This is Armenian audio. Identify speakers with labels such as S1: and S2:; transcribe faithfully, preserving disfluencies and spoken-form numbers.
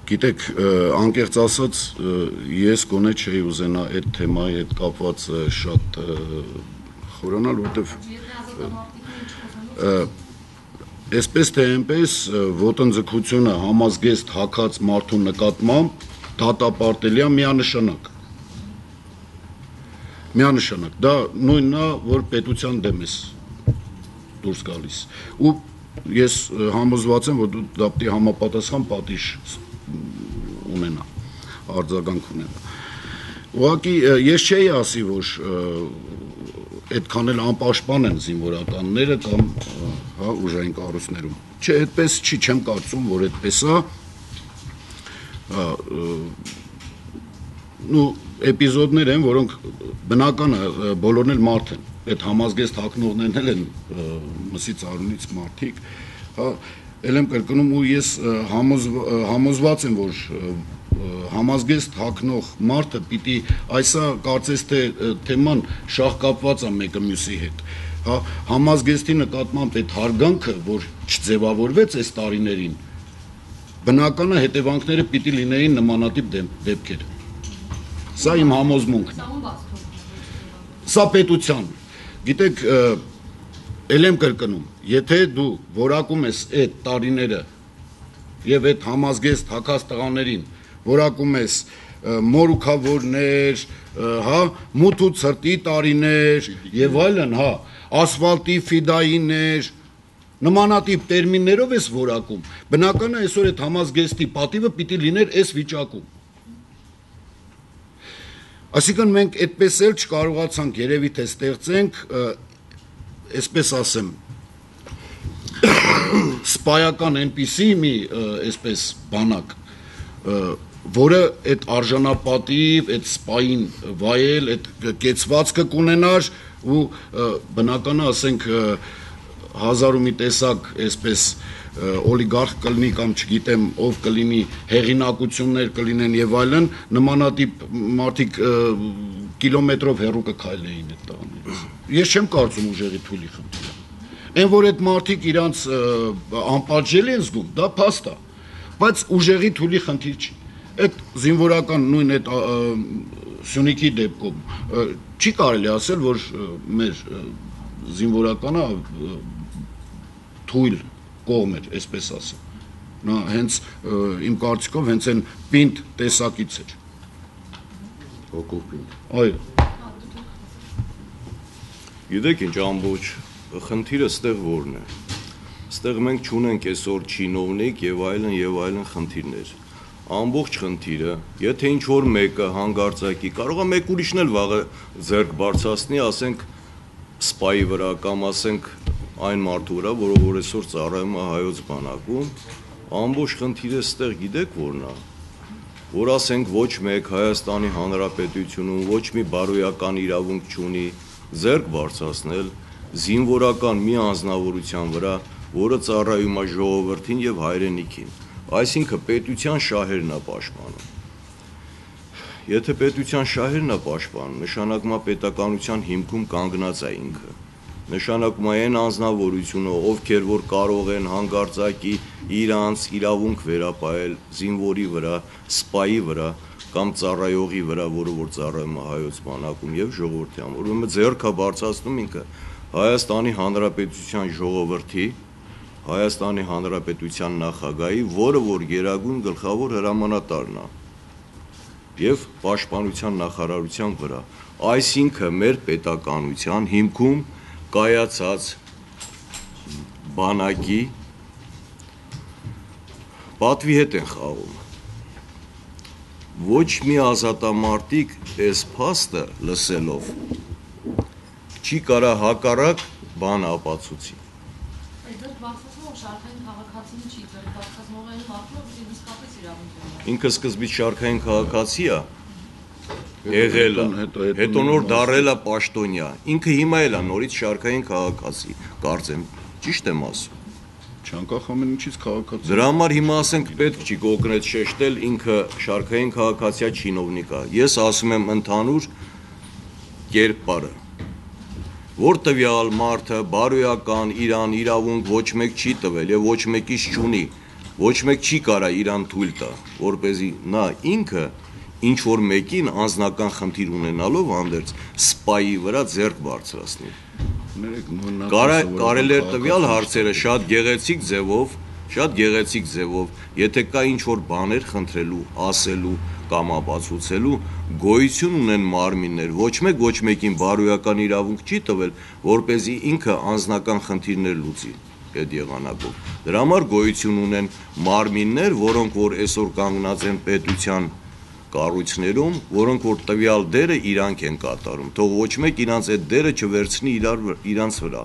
S1: Գիտեք, անկեղծ ասած, ես գոնե չէի ուզենա այդ թեմայի հետ կապված շատ խորանալ, որովհետև այսպես թե այնպես ոտնձգությունը համազգեստ հագած մարդու նկատմամբ դատապարտելի է միանշանակ։ Միանշանակ, դա նույնն է, որ պետության դեմ ես դուրս գալիս։ Ու ես համոզված եմ, որ դու դա պետք է համապատասխան պատիժ ունենա, արձագանք ունենա։ Ուղղակի ես չէի ասի, որ այդքան էլ անպաշտպան են զինվորականները կամ հա ուժային կառույցներում։ Չէ, այդպես չի, չեմ կարծում, որ այդպես է։ Նու էպիզոդներ են, որոնք բնական է, բոլորն էլ մարդ են։ Այդ համազգեստ հագնողներն էլ են մսի ծառունից մարդիկ, հա, էլ եմ կրկնում ու ես համոզված եմ, որ համազգեստ հագնող մարդը պիտի այսա կարծես թե թեման շահկապված է մեկը մյուսի հետ, հա, համազգեստի նկատմամբ այդ հարգանքը, որ չձևավորվեց այս տարիներին, բնականը հետևանքները պիտի լինեին նմանատիպ դեպքեր։ Սա իմ համոզմունքն է։ Սա պետության։ Գիտեք, էլ եմ կրկնում, եթե դու որակում ես այդ տարիները եւ այդ համազգեստ հագած տղաներին, որակում ես մորուքավորներ, հա, մութ ու ցրտի տարիներ եւ այլն, հա, ասֆալտի ֆիդայիներ, նմանատիպ տերմիններով ես որակում, բնական է այսօր այդ համազգեստի պատիվը պիտի լիներ այս վիճակում։ Այսինքն մենք այդպես էլ չկարողացանք երևի թե ստեղծենք, այսպես ասեմ, սպայական այնպիսի մի այսպես բանակ, որը այդ արժանապատիվ, այդ սպային վայել, այդ կեցվածքը կունենար ու բնականը, ասենք, հազար ու մի տեսակ այսպես օլիգարխ կլինի կամ չգիտեմ ով կլինի, հեղինակություններ կլինեն եւ այլն, նմանատիպ մարդիկ կիլոմետրով հեռու կքայլեին այդ տղաներից։ Ես չեմ կարծում ուժերի թույլի խնդիրը։ Այն որ այդ մարդիկ իրանց անպատժելի են զգում, դա փաստ է, բայց ուժերի թույլի խնդիր չի։ Այդ զինվորական նույն այդ Սյունիքի դեպքում չի կարելի ասել, որ մեր զինվորականը թույլ կողմ էր, այսպես ասեմ։ Նա հենց իմ կարծիքով հենց այն պինդ տեսակից էր։ Հոգով պինդ։ Այո։
S2: Գիտեք ինչ ամբողջ խնդիրը ստեղ որն է։ Ստեղ մենք չունենք այսօր չինովնիկ եւ այլն եւ այլն խնդիրներ։ Ամբողջ խնդիրը, եթե ինչ որ մեկը հանգարցակի, կարող է մեկ ուրիշն էլ վաղը ձեռք բարձրացնի, ասենք սպայի վրա կամ ասենք այն մարդու վրա, որը որ այսօր ծառայում է հայոց բանակում, ամբողջ խնդիրը ստեղ գիտեք որն է, որ ասենք ոչ մեկ Հայաստանի Հանրապետությունում ոչ մի բարոյական իրավունք չունի ձեռք բարձրացնել զինվորական մի անձնավորության վրա, որը ծառայում է ժողովրդին եւ հայրենիքին, այսինքն պետության շահերն է պաշտպանում։ Եթե պետության շահերն է պաշտպանում, նշանակում է պետականության հիմքում կանգնած է ինքը։ Նշանակում է այն անձնավորությունը, ովքեր որ կարող են հանգարցակի իրանց իրավունք վերապահել զինվորի վրա, սպայի վրա կամ ծառայողի վրա, որը որ ծառայում է հայոց բանակում եւ ժողովրդի համար, ուրեմն ձեռքը բարձրացնում ինքը Հայաստանի Հանրապետության ժողովրդի, Հայաստանի Հանրապետության նախագահի, որը որ գերագույն գլխավոր հրամանատարն է եւ պաշտպանության նախարարության վրա, այսինքն մեր պետականության հիմքում կայացած բանակի պատվի հետ են խաղում։ Ոչ մի ազատամարտիկ այս փաստը լսելով չի կարա հակառակ բան ապացուցի։ Ինքը սկզբից շարքային քաղաքացի է, եղել է, հետո նոր դառել է պաշտոնյա, ինքը հիմա էլ է նորից շարքային քաղաքացի, կարծեմ, ճիշտ եմ ասում։
S1: Չանկախ ամեն ինչից քաղաքացի։
S2: Դրա համար հիմա ասենք պետք չի կոնկրետ շեշտել ինքը շարքային քաղաքացիա չինովնիկ է։ Ես ասում եմ ընդհանուր կերպարը, որ տվյալ մարդը բարոյական իրան իրավունք ոչ մեկ չի տվել եւ ոչ մեկից չունի, ոչ մեկ չի կարա իրան թույլ տա, որպեսզի նա ինքը ինչ որ մեկին անձնական խնդիր ունենալով հանդերձ սպայի վրա ձեռք բարձրացնի։ Կարելի է տվյալ հարցերը շատ գեղեցիկ ձևով, շատ գեղեցիկ ձևով, եթե կա ինչ որ բաներ խնդրելու, ասելու կամ ապացուցելու, գոյություն ունեն մարմիններ, ոչ մեկ ոչ մեկին բարոյական իրավունք չի տվել, որպեսզի ինքը անձնական խնդիրներ լուծի այդ եղանակով։ Դրա համար գոյություն ունեն մարմիններ, որոնք որ այսօր կանգնած են պետության կառույցներում, որոնք որ տվյալ դերը իրանք են կատարում, թող ոչ մեկ իրանց այդ դերը չվերցնի իրար իրանց վրա։